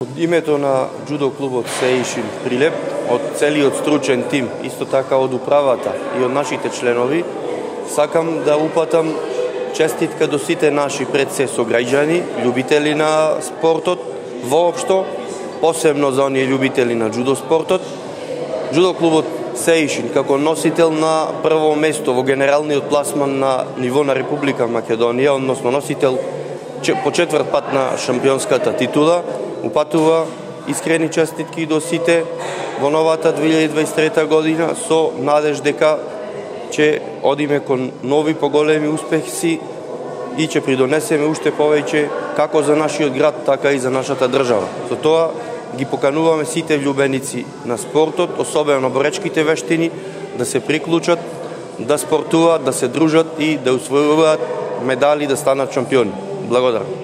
Од името на џудо клубот Сеишин Прилеп, од целиот стручен тим, исто така од управата и од нашите членови, сакам да упатам честитка до сите наши пред се сограѓани, љубители на спортот воопшто, посебно за оние љубители на џудо спортот. Џудо клубот Сеишин како носител на прво место во генералниот пласман на ниво на Република Македонија, односно носител по четврт пат на шампионската титула, упатува искрени честитки до сите во новата 2023 година со надеж дека ќе одиме кон нови поголеми успехи и ќе придонесеме уште повеќе како за нашиот град, така и за нашата држава. Со тоа ги покануваме сите влюбеници на спортот, особено боречките вештини, да се приклучат, да спортуваат, да се дружат и да усвојуваат медали, да станат шампиони. Благодарам.